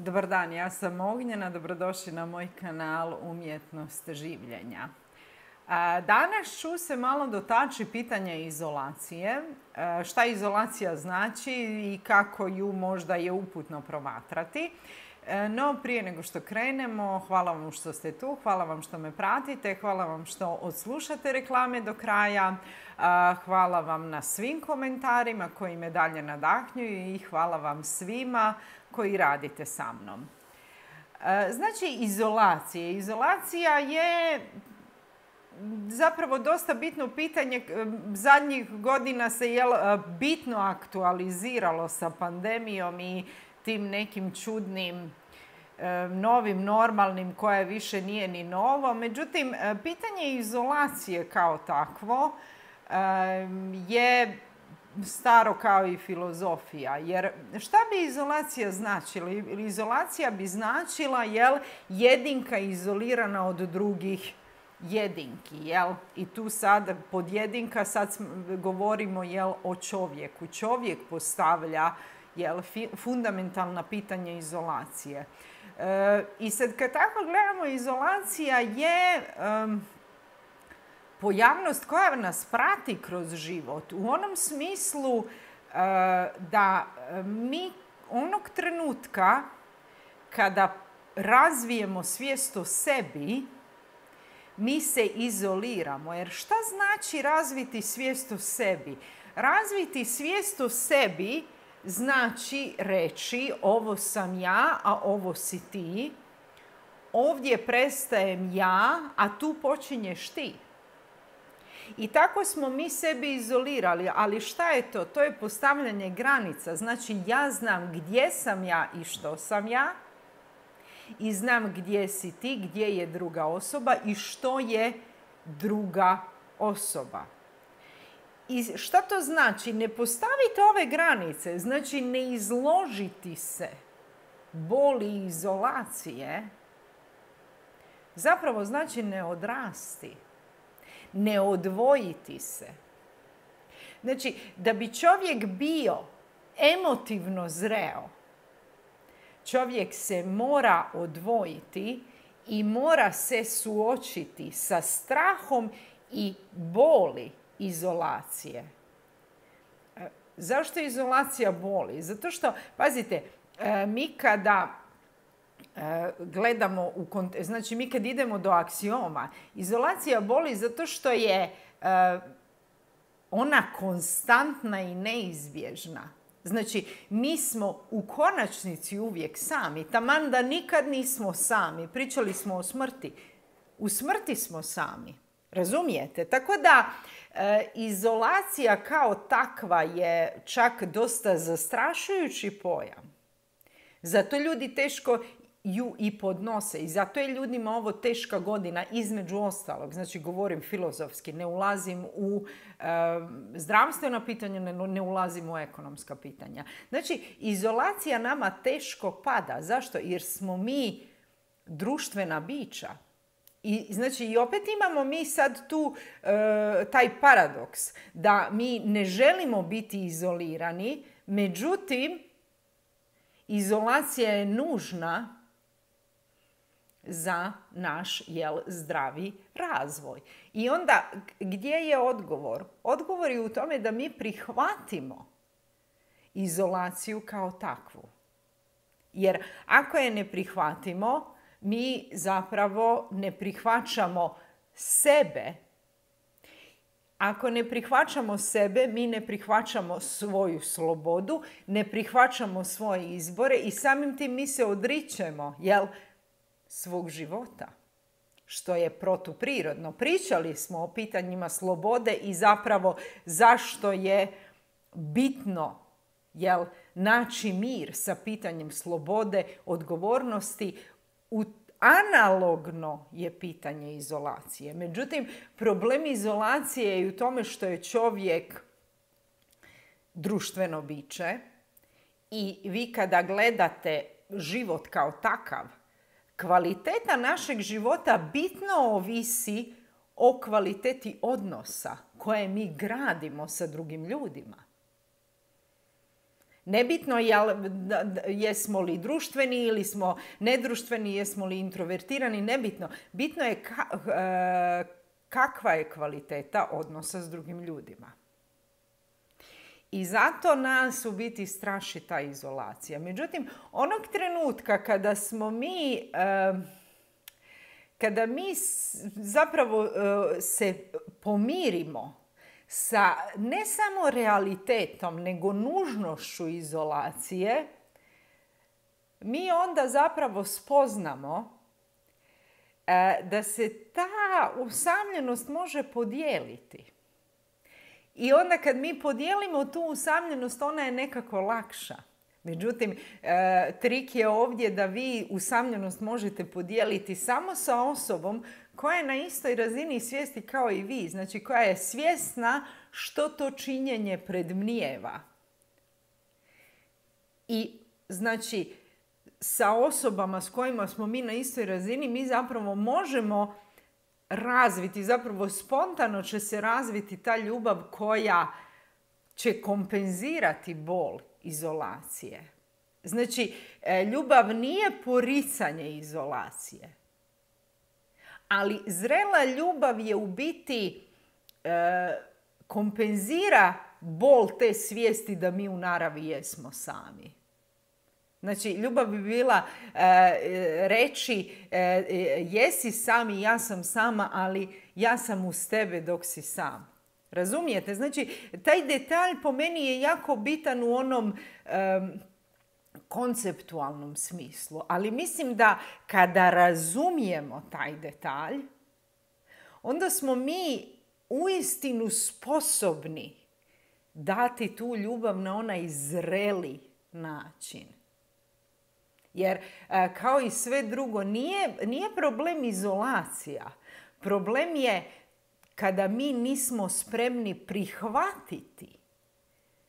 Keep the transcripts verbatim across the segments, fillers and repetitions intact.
Dobar dan, ja sam Ognjena, dobrodošli na moj kanal Umjetnost življenja. Danas ću se malo dotaći pitanja izolacije, šta izolacija znači i kako ju možda je uputno promatrati. No, prije nego što krenemo, hvala vam što ste tu, hvala vam što me pratite, hvala vam što odslušate reklame do kraja, hvala vam na svim komentarima koji me dalje nadahnjuju i hvala vam svima koji radite sa mnom. Znači, izolacija. Izolacija je zapravo dosta bitno pitanje. Zadnjih godina se je bitno aktualiziralo sa pandemijom i tim nekim čudnim novim normalnim koje više nije ni novo. Međutim, pitanje izolacije kao takvo je staro kao i filozofija. Jer šta bi izolacija značila? Izolacija bi značila, jel, jedinka izolirana od drugih jedinki, jel? I tu sad pod jedinka sad govorimo, jel, o čovjeku. Čovjek postavlja, jel, fundamentalna pitanja izolacije. E, I sad kad tako gledamo, izolacija je um, pojavnost koja nas prati kroz život. U onom smislu uh, da mi onog trenutka kada razvijemo svijest o sebi, mi se izoliramo. Jer šta znači razviti svijest o sebi? Razviti svijest o sebi znači reći ovo sam ja, a ovo si ti. Ovdje prestajem ja, a tu počinješ ti. I tako smo mi sebi izolirali, ali šta je to? To je postavljanje granica. Znači, ja znam gdje sam ja i što sam ja i znam gdje si ti, gdje je druga osoba i što je druga osoba. I šta to znači? Ne postaviti ove granice, znači ne izložiti se boli izolacije, zapravo znači ne odrasti. Ne odvojiti se. Znači, da bi čovjek bio emotivno zreo, čovjek se mora odvojiti i mora se suočiti sa strahom i boli izolacije. Zašto izolacija boli? Zato što, pazite, mi kada gledamo u kont- znači mi kad idemo do aksioma, izolacija boli zato što je uh, ona konstantna i neizbježna. Znači, mi smo u konačnici uvijek sami. Taman da nikad nismo sami. Pričali smo o smrti. U smrti smo sami. Razumijete? Tako da uh, izolacija kao takva je čak dosta zastrašujući pojam. Zato ljudi teško ju i podnose. I zato je ljudima ovo teška godina, između ostalog. Znači, govorim filozofski, ne ulazim u e, zdravstvena pitanja, ne, ne ulazim u ekonomska pitanja. Znači, izolacija nama teško pada. Zašto? Jer smo mi društvena bića. I, znači, i opet imamo mi sad tu e, taj paradoks da mi ne želimo biti izolirani, međutim, izolacija je nužna za naš, jel, zdravi razvoj. I onda, gdje je odgovor? Odgovor je u tome da mi prihvatimo izolaciju kao takvu. Jer ako je ne prihvatimo, mi zapravo ne prihvaćamo sebe. Ako ne prihvaćamo sebe, mi ne prihvaćamo svoju slobodu, ne prihvaćamo svoje izbore i samim tim mi se odričemo, jel, svog života, što je protuprirodno. Pričali smo o pitanjima slobode i zapravo zašto je bitno, jel, naći mir sa pitanjem slobode, odgovornosti. U Analogno je pitanje izolacije. Međutim, problem izolacije je u tome što je čovjek društveno biće i vi kada gledate život kao takav, kvaliteta našeg života bitno ovisi o kvaliteti odnosa koje mi gradimo sa drugim ljudima. Nebitno jel, jesmo li društveni ili smo nedruštveni, jesmo li introvertirani, nebitno. Bitno je ka, kakva je kvaliteta odnosa s drugim ljudima. I zato nas u biti straši ta izolacija. Međutim, onog trenutka kada smo mi, kada mi zapravo se pomirimo sa ne samo realitetom, nego nužnošću izolacije, mi onda zapravo spoznamo da se ta usamljenost može podijeliti. I onda kad mi podijelimo tu usamljenost, ona je nekako lakša. Međutim, trik je ovdje da vi usamljenost možete podijeliti samo sa osobom koja je na istoj razini svijesti kao i vi. Znači, koja je svjesna što to činjenje predmnijeva. I, znači, sa osobama s kojima smo mi na istoj razini, mi zapravo možemo razviti, zapravo spontano će se razviti ta ljubav koja će kompenzirati bol izolacije. Znači, ljubav nije poricanje izolacije. Ali zrela ljubav je u biti e, kompenzira bol te svijesti da mi u naravi jesmo sami. Znači, ljubav bi bila e, reći e, jesi sam i ja sam sama, ali ja sam uz tebe dok si sam. Razumijete? Znači, taj detalj po meni je jako bitan u onom e, konceptualnom smislu. Ali mislim da kada razumijemo taj detalj, onda smo mi uistinu sposobni dati tu ljubav na onaj zreli način. Jer kao i sve drugo, nije, nije problem izolacija. Problem je kada mi nismo spremni prihvatiti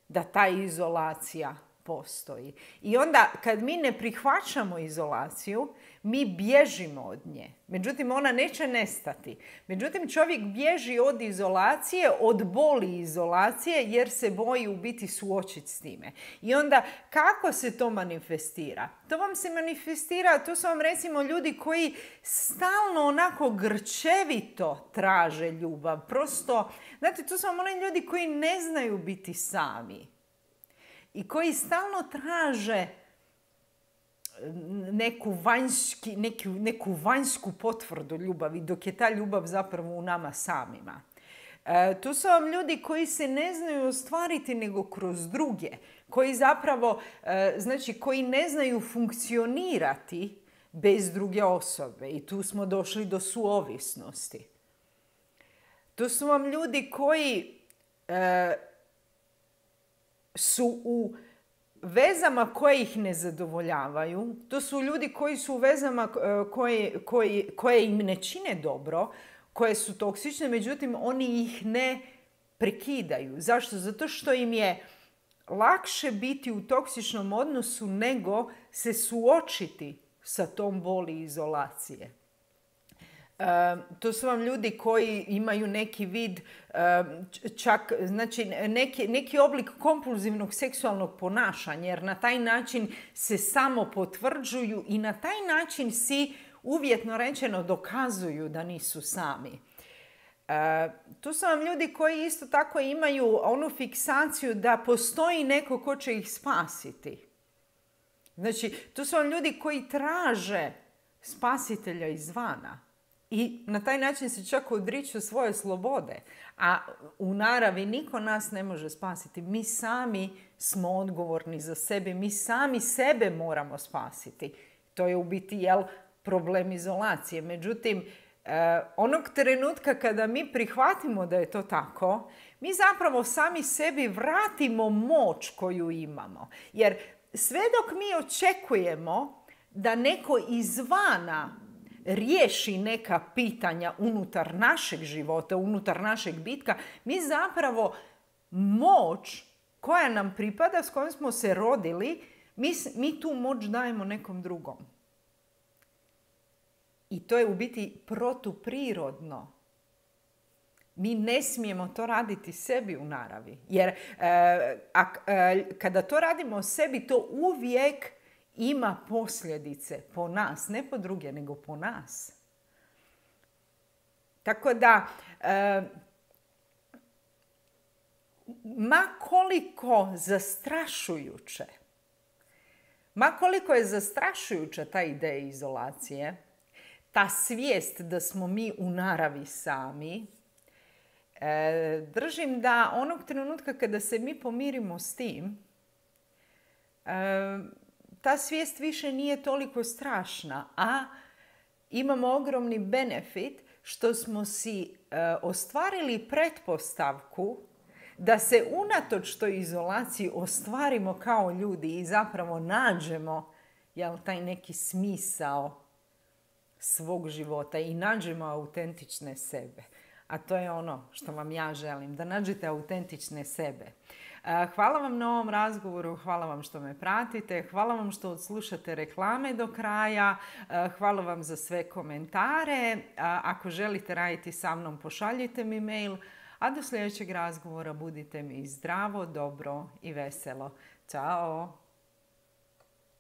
da ta izolacija postoji. I onda kad mi ne prihvaćamo izolaciju, mi bježimo od nje. Međutim, ona neće nestati. Međutim, čovjek bježi od izolacije, od boli izolacije, jer se boji u biti suočiti s time. I onda, kako se to manifestira? To vam se manifestira, to su vam recimo ljudi koji stalno onako grčevito traže ljubav. Prosto, znate, to su vam oni ljudi koji ne znaju biti sami. I koji stalno traže neku, vanjski, neku, neku vanjsku potvrdu ljubavi, dok je ta ljubav zapravo u nama samima. E, tu su vam ljudi koji se ne znaju ostvariti nego kroz druge. Koji zapravo, e, znači koji ne znaju funkcionirati bez druge osobe. I tu smo došli do suovisnosti. Tu su vam ljudi koji e, su u vezama koje ih ne zadovoljavaju. To su ljudi koji su u vezama koje, koje, koje im ne čine dobro, koje su toksične, međutim oni ih ne prekidaju. Zašto? Zato što im je lakše biti u toksičnom odnosu nego se suočiti sa tom boli izolacije. Uh, to su vam ljudi koji imaju neki vid, uh, čak, znači neki, neki oblik kompulzivnog seksualnog ponašanja, jer na taj način se samo potvrđuju i na taj način si uvjetno rečeno dokazuju da nisu sami. Uh, tu su vam ljudi koji isto tako imaju onu fiksaciju da postoji neko ko će ih spasiti. Znači, tu su vam ljudi koji traže spasitelja izvana. I na taj način se čak odriču svoje slobode. A u naravi niko nas ne može spasiti. Mi sami smo odgovorni za sebe. Mi sami sebe moramo spasiti. To je u biti jel, problem izolacije. Međutim, eh, onog trenutka kada mi prihvatimo da je to tako, mi zapravo sami sebi vratimo moć koju imamo. Jer sve dok mi očekujemo da neko izvana riješi neka pitanja unutar našeg života, unutar našeg bitka, mi zapravo moć koja nam pripada, s kojom smo se rodili, mi, mi tu moć dajemo nekom drugom. I to je u biti protuprirodno. Mi ne smijemo to raditi sebi u naravi. Jer e, a, e, kada to radimo sebi, to uvijek ima posljedice po nas. Ne po druge, nego po nas. Tako da, e, ma koliko zastrašujuće, ma koliko je zastrašujuća ta ideja izolacije, ta svijest da smo mi u naravi sami, e, držim da onog trenutka kada se mi pomirimo s tim, e, ta svijest više nije toliko strašna, a imamo ogromni benefit što smo si e, ostvarili pretpostavku da se unatoč toj izolaciji ostvarimo kao ljudi i zapravo nađemo, jel, taj neki smisao svog života i nađemo autentične sebe. A to je ono što vam ja želim, da nađete autentične sebe. Hvala vam na ovom razgovoru, hvala vam što me pratite, hvala vam što odslušate reklame do kraja, hvala vam za sve komentare. Ako želite raditi sa mnom, pošaljite mi mail, a do sljedećeg razgovora budite mi zdravo, dobro i veselo. Ćao!